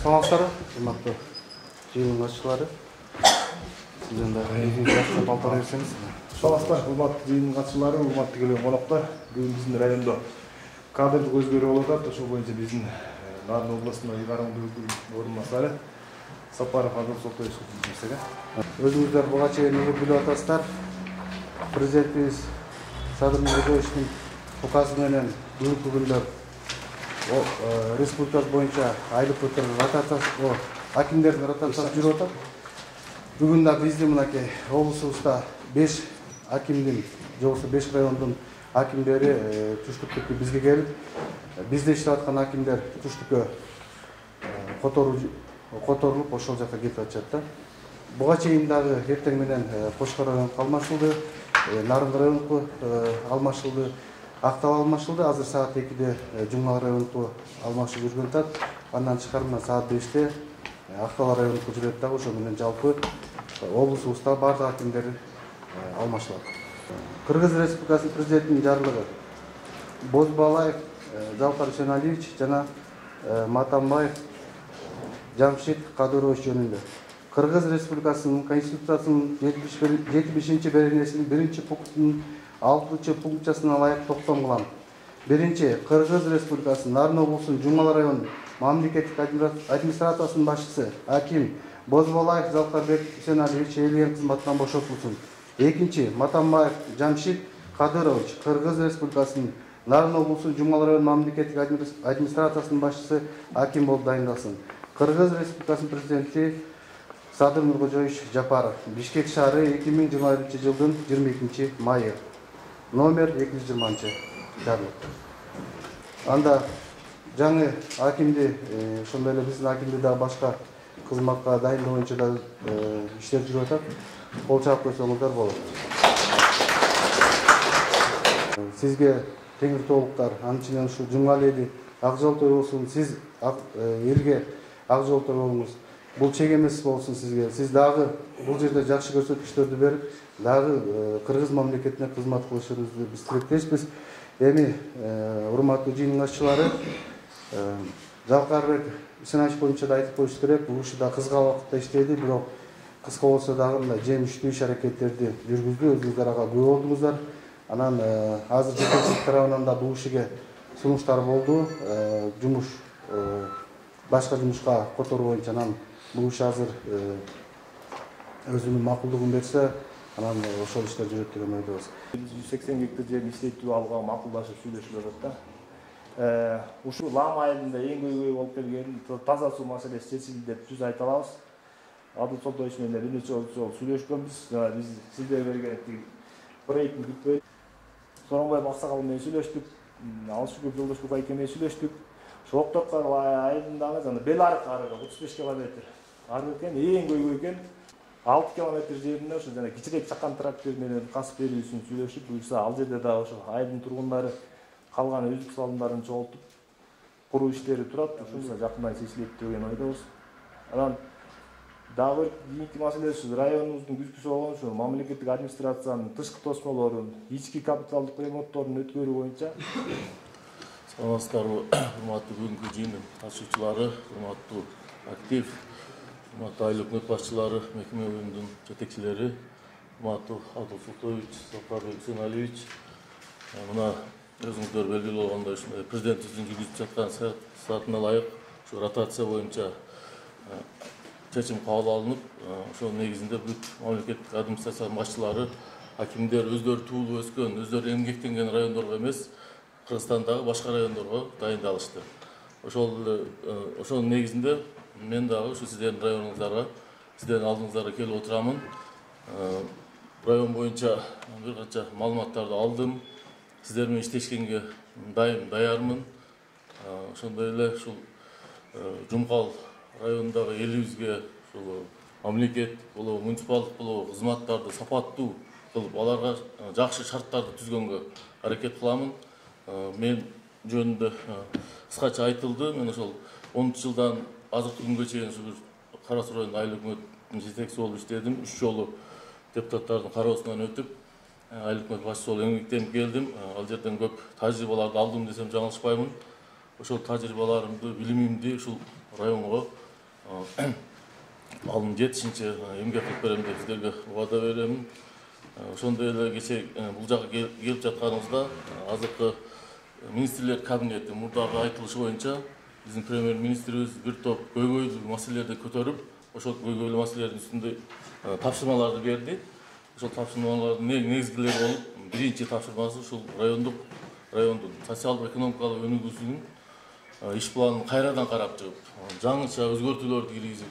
Саламатсыздар, урматтуу жыйындын катчылары. Сизден да жакшы балтар берсеңиз. Саламатсыздар, урматтуу жыйындын катчылары, урматтуу келген коноктор. Бүгүн биздин райондо кадрдык өзгөрүү болуп атат. Ошол боюнча биздин Нарын областындагы Караңгы орун басары Сапаров Адыл Сотоевич билдирсеге. Өзүңүздөр буга чейин билип атасыздар. Президентибиз Садыр Нурзиевичтин указы менен бүгүнкү күндө республикасы боюнча айлык ротациясы, акимдердин ротациясы жүрүп атат. Бүгүн да биздин мынакей облусубузда 5 акимдин, же болбосо 5 райондун акимдери түштүктүккө бизге келип, бизде иштеп аткан акимдер түштүккө которулуп ошол жака кетип атышат да. Буга чейин дагы эртең менен Кошкор районуна алмашылды, Нарынгы районуна алмашылды, Актал алмашылды. Азыр саат 2-де Жумгал районуна алмашып жүргөн атат. Андан тышкары мына саат 5-те Актал районуна жүрөт дагы. Ошо менен жалпы облусубузда бардык акимдер алмашылат. Кыргыз Республикасынын президентинин жарлыгы Бозбалаев Залкар Үсеналиевич жана Матамбаев Жамшит Кадырович жөнүндө Кыргыз Республикасынын Конституциясынын 75-беренесинин 1-пунктунун 6-пунктчасына ылайык токтом кылам. Биринчи, Кыргыз Республикасынын Нарын облусунун Жумгал районунун мамлекеттик администрациясынын башчысы аким Бозбалаев Залкарбек Үсеналиевич ээлеген кызматтан бошотулсун. Экинчи, Матамбаев Жамшит Кадырович Кыргыз Республикасынын Нарын облусунун Жумгал районунун мамлекеттик администрациясынын башчысы аким болуп дайындалсын. Кыргыз Республикасынын президенти Садыр Нурзиевич Жапаров, Бишкек шаары 2021-жылдын 22-майы. Номер 220 жарлык. Анда жаңы акимди, ошондой эле биздин акимди да башка кызматка дайындоо боюнча да иштер жүрүп атат. Кол чаап койсоңуздар болот. Сизге теңир толуктар, анын ичинен ушу Жумгал эли ак жолтой болсун, сиз элге ак жолтой болуңуз. Бул чек эмес болсун сизге. Сиз дагы бул жерде жакшы көрсөтүктөрдү берип, дагы кыргыз мамлекетине кызмат кылышыңызды биз тилектешпиз. Эми урматтуу жыйындын катчылары, Жалкарбек Үсеналиевич боюнча да айтып коюш керек. Бул уши да кыска убакытта иштеди, бирок кыска болсо дагы мындай жемиштүү иш-аракеттерди жүргүздү. Өзүңүздөр ага күбө болдуңуздар. Анан азыр жетекчилик тарабынан да бул ишиге сунуштар болду. Жумуш башка жумушка которуу боюнча анан бул иш азыр өзүнүн макулдугун берсе, анан ошол иштер жүрөт деген ойдобуз. 180 гектар жерин иштетүү алууга макулдашып сүйлөшүп атат да. Ушул Лам айылында эң көйгөй болуп келген таза суу маселеси чечилди деп түз айта алабыз. Адыл Сотоевич менен бир нече жолу сүйлөшкөнбүз. Биз сиздерге берген проектти күтпөй Сооронбай Аксакал менен сүйлөштүк, Алшүкүр Жолдошбек айке менен сүйлөштүк. Ошо Октоткар айылындагы жана Бел аркы 35 километр ары экен, эң көйгөй экен. 6 километр жеринде ошо жана кичирээк чакан трактор менен касып берүүсүн сүйлөшүп, буюрса ал жерде да ошо айылдын тургундары калган өзүк салымдарын чогултуп куруу иштери турат. Ушунда жакындан чечилет деген ойдобуз. Анан дагы кийинки маселе ушу районубуздун күзгүсү болгон ушу мамлекеттик администрациянын тышкы тосмолорун, ички капиталдык ремонтторун өткөрүү боюнча. Саламатсыздарбы, урматтуу бүгүнкү жыйындын катышуучулары, урматтуу актив, урматтуу айыл өкмөт башчылары, мекеме уюмдун жетекчилери, урматтуу Адыл Сотоевич, Залкарбек Үсеналиевич. Мына өзүңүздөр белгилүү болгондой ушундай президентибиздин жүргүзүп жаткан саатына ылайык ушу ротация боюнча чечим кабыл алынып, ошонун негизинде бүт мамлекеттик администрациянын башчылары, акимдер өздөрү туулуп өскөн, өздөрү эмгектенген райондорго эмес, Кыргызстандагы башка райондорго дайындалышты. Ошонун негизинде мен дагы ушу сиздердин районуңуздарга, сиздердин алдыңыздарга келип отурамын. Район боюнча бир канча маалыматтарды алдым. Сиздер менен иштешкенге даярмын. Ошондой эле ушул Жумгал районундагы элибизге ушул мамлекеттик болобу, муниципалдык болобу кызматтарды сапаттуу кылып, аларга жакшы шарттарды түзгөнгө аракет кыламын. Мен жөнүндө кыскача айтылды. Мен ошол 10-жылдан азыркы күнгө чейин ушу Кара Суу районунун айыл өкмөтүнүн жетекчиси болуп иштедим. 3 жолу депутаттардын кароосунан өтүп, айыл өкмөт башчысы болуп эмгектенип келдим. Ал жерден көп тажрыйбаларды алдым десем жаңылышпаймын. Ошол тажрыйбаларымды, билимимди ушул районго алым жетишинче эмгек кылып берем деп сиздерге убада беремин. Ошондой эле кечээ бул жакка келип жатканыбызда азыркы министрлер кабинети мурдагы айтылышы боюнча биздин премьер-министрибиз бир топ көйгөйлүү маселелерди көтөрүп, ошол көйгөйлүү маселелердин үстүндө тапшырмаларды берди. Ошол тапшырмалардын негизгилери болуп, биринчи тапшырмасы ушул райондун социалдык-экономикалык өнүгүүсүнүн иш планын кайрадан карап чыгып, жаңыча өзгөртүүлөрдү киргизип,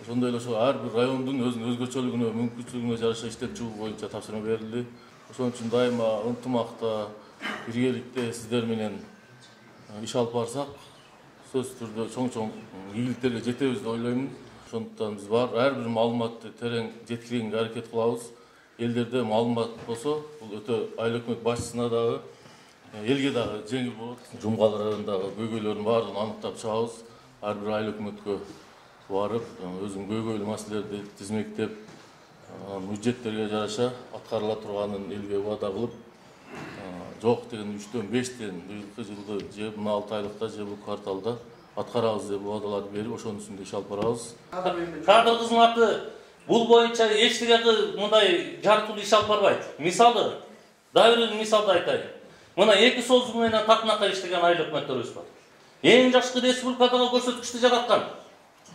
ошондой эле ошол ар бир райондун өзүнүн өзгөчөлүгүнө, мүмкүнчүлүгүнө жараша иштетчү боюнча тапшырма берилди. Ошон үчүн дайыма ынтымакта, биргеликте сиздер менен иш алып барсак, сөзсүз түрдө чоң ийгиликтерге жетебиз деп ойлоймун. Ошондуктан биз ар бир маалыматты терең жеткиргенге аракет кылабыз. Элдерде маалымат болсо, бул өтө айыл өкмөт башчысына дагы, элге дагы жеңил болот. Жумгал районундагы көйгөйлөрдүн баардыгын аныктап чыгабыз. Ар бир айыл өкмөткө барып, өзүнүн көйгөйлүү маселелерди тизмектеп, бюджеттерге жараша аткарыла турганын элге убада кылып, жок деген 3-төн 5-тен быйылкы жылды же мына 6 айлыкта же бул кварталда аткарабыз деп убадаларды берип, ошонун үстүндө иш алып барабыз. Кадр кызматы бул боюнча эчтеге мындай жарыктуу иш алып барбайт. Мисалы, дагы бир мисалды айтайын. Мына 2 созу менен татынакка иштеген айыл өкмөттөрүбүз бар. Эң жакшы республикадагы көрсөткүчтү жараткан.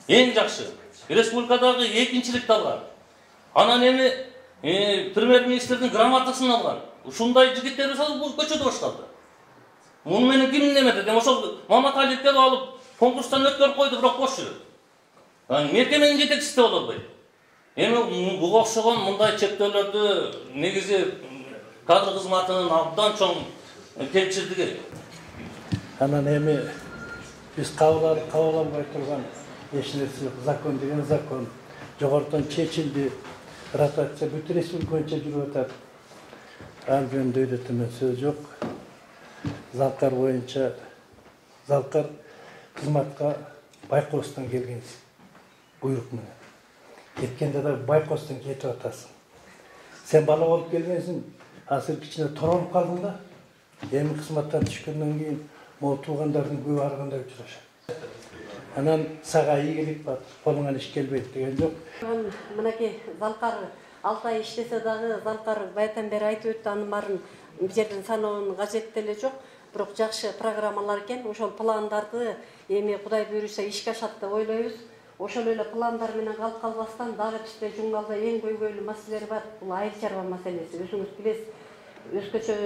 Эң жакшы. Республикадагы экинчиликти алган. Анан эми премьер-министрдин грамотасын алган. Ушундай жигиттерибиз бул көчөдө башталды. Муну менен ким неметет? Ошол Маматалиевди алып конкурстан өткөрүп койду, бирок бош жүрөт. Мекеменин жетекчиси боло албайт. Эми буга окшогон мындай чектөөлөрдү негизи кадр кызматынын абдан чоң кемчилдиги. Анан эми биз кабыл албай турган эч нерсе жок. Закон деген закон. Жогорудон чечилди. Ротация бүт республика боюнча жүрүп атат. Ал жөнүндө өйрөтүүнүн сөзү жок. Залкар боюнча Залкар кызматка Байкостон келген буйрук менен. Кеткенде да Байкостон кетип атасың. Сен бала болуп келгенсиң, азыр кичине торонуп калдың да. Эми кызматтан түшкөндөн кийин могу туугандардын көбү ар кандай учурашат. Анан сага ийгилик бар, колуңан иш келбейт деген жок. Мынакей Залкар 6 ай иштесе дагы Залкар баятан бери айтып өттү, анын баарын бул жерден саноонун кажети деле жок. Бирок жакшы программалар экен. Ошол пландарды эми Кудай буйруса ишке ашат деп ойлойбуз. Ошол эле пландар менен калып калбастан дагы бизде Жумгалда эң көйгөйлүү маселелер бар. Бул айыл чарба маселеси. Өзүңүз билесиз, өзгөчө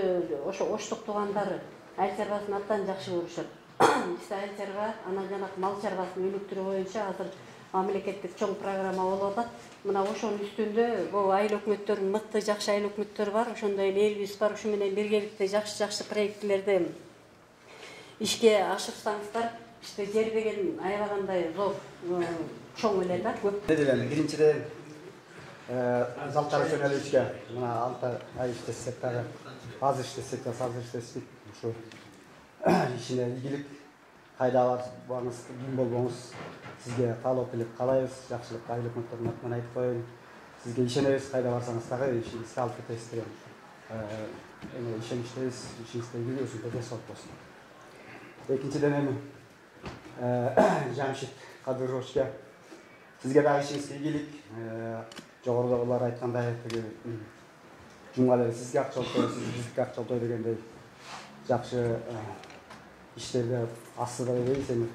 ошо оштук туугандары айыл чарбасын абдан жакшы көрүшөт. Биз айыл чарба, анан жанагы мал чарбасын өнүктүрүү боюнча азыр мамлекеттик чоң программа болуп атат. Мына ошонун үстүндө бул айыл өкмөттөрүнүн мыкты жакшы айыл өкмөттөрү бар. Ошондой эле элибиз бар. Ушу менен биргеликте жакшы проектлерди ишке ашырсаңыздар, иште жер деген аябагандай зор, чоң эле да, көп. Биринчиден Залкар жөнөлүшкө мына 6 ай иштесек дагы, азыр иштесек да азыр иштесек, ушу ишине ийгилик, кайда барсаңыз, ким болбоңуз, сизге талап келип калайбыз, жакшылык айыл өкмөттөрүнүн атынан айтып коеюн. Сизге ишенебиз, кайда барсаңыз дагы ишиңизди алып кетесиз деген. Эми ишеничтебиз, ишиңизде өзүңүзгө десоот болсун. Экинчиден эми Жамшит Кадыровичке сизге дагы ишиңизге ийгилик, жогорудагылар айткандай жумгал сизге акча алып, сиз бизге акча алып дегендей жакшы иштерди астыда дебейбиз, эми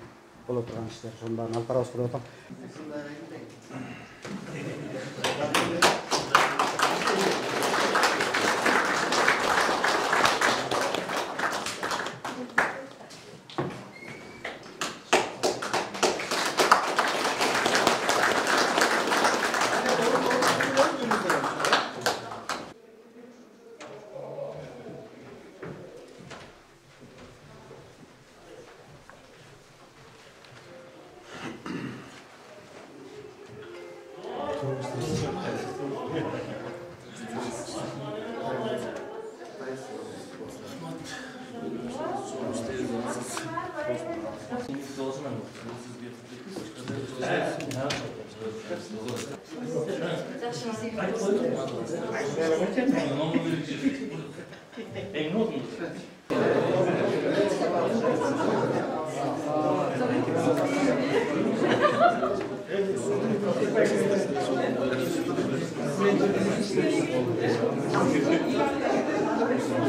боло турган иштер, ошонун баарын алып барабыз деп атам.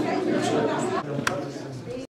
Thank you.